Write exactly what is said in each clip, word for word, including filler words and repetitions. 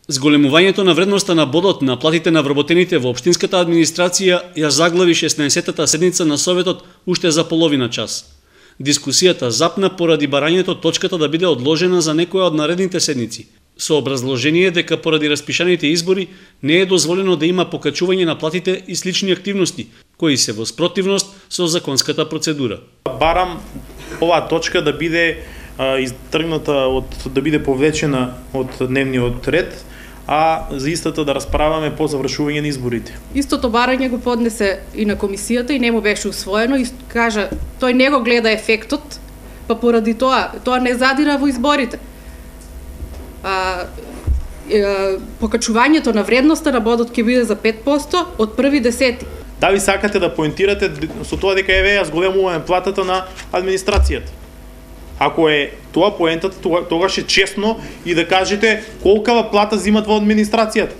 Зголемувањето на вредноста на бодот на платите на вработените во општинската администрација ја заглави шеснаесеттата седница на Советот уште за половина час. Дискусијата запна поради барањето точката да биде одложена за некоја од наредните седници, со образложение дека поради распишаните избори не е дозволено да има покачување на платите и слични активности, кои се во спротивност со законската процедура. Барам оваа точка да биде а, изтргната од да биде повлечена од дневниот ред, а за истата да расправаме по завршување на изборите. Истото барање го поднесе и на комисијата и не му беше усвоено и кажа тој не го гледа ефектот, па поради тоа тоа не задира во изборите. А, е, покачувањето на вредноста на бодот ќе биде за пет проценти од први десети. Да ви сакате да поентирате со тоа дека еве ја зголемуваме платата на администрацијата. Ако е тоа поентата, тогаш е честно и да кажете колкава плата зимат во администрацијата.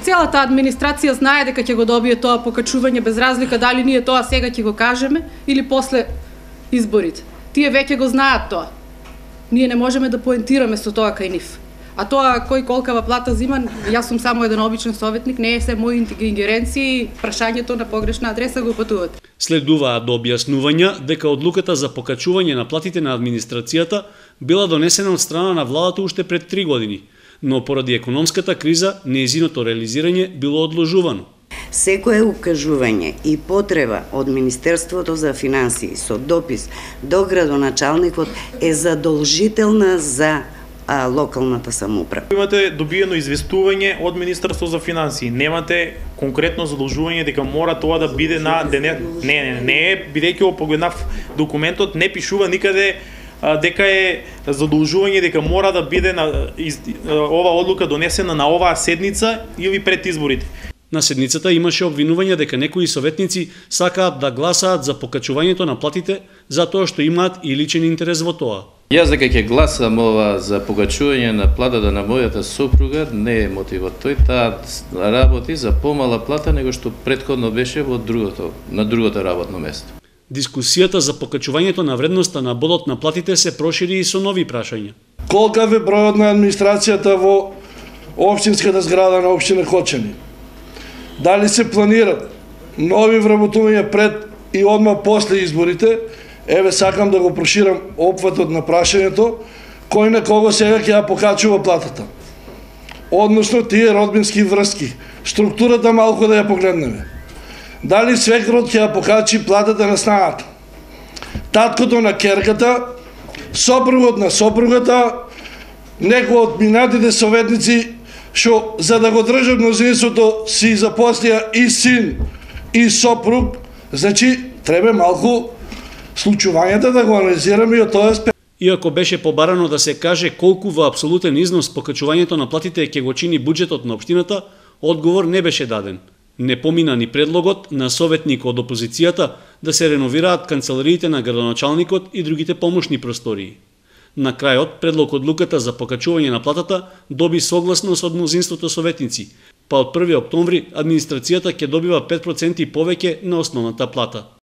Целата администрација знае дека ќе го добие тоа покачување без разлика дали ние тоа сега ќе го кажеме или после изборите. Тие веќе го знаат тоа. Ние не можеме да поентираме со тоа кај нив. А тоа кој колкава плата зима, јас сум само еден обичен советник, не е се мои ингеренции, прашањето на погрешна адреса го патуват. Следуваа до објаснувања дека одлуката за покачување на платите на администрацијата била донесена од страна на владата уште пред три години, но поради економската криза нејзиното реализирање било одложувано. Секое укажување и потреба од Министерството за финансии со допис до градоначалникот е задолжителна за а, локалната самоуправа. Имате добиено известување од Министерство за финансии. Немате конкретно задолжување дека мора тоа да биде на дене. Не, не, не е, бидејќи го погледнав документот, не пишува никаде а, дека е задолжување дека мора да биде на из, ова одлука донесена на оваа седница или пред изборите. На седницата имаше обвинување дека некои советници сакаат да гласаат за покачувањето на платите затоа што имаат и личен интерес во тоа. Јас дека ќе гласам ова за покачување на платата на мојата сопруга не е мотивот. Тој таа работи за помала плата него што претходно беше во другото, на другото работно место. Дискусијата за покачувањето на вредноста на бодот на платите се прошири и со нови прашања. Колкав е бројот на администрацијата во општинската зграда на општина Хочани? Дали се планират нови вработувања пред и одма после изборите? Еве сакам да го проширам опфатот на прашањето, кој на кого сега ќе ја покачува платата. Односно тие родбински врски, структурата малку да ја погледнеме. Дали свекрот ќе ја покачи платата на снагата? Таткото на керката, сопругот на сопругата, некој од минатите советници што за да го држат мнозинството си запослија и син и сопруг, значи треба малку случувањата да го анализираме и од тоа аспект. Иако беше побарано да се каже колку во апсолутен износ покачувањето на платите ќе го чини буџетот на општината, одговор не беше даден. Не помина ни предлогот на советник од опозицијата да се реновираат канцелариите на градоначалникот и другите помошни простории. На крајот, предлог одлуката за покачување на платата доби согласност од мнозинството советници, па од први октомври администрацијата ќе добива пет проценти повеќе на основната плата.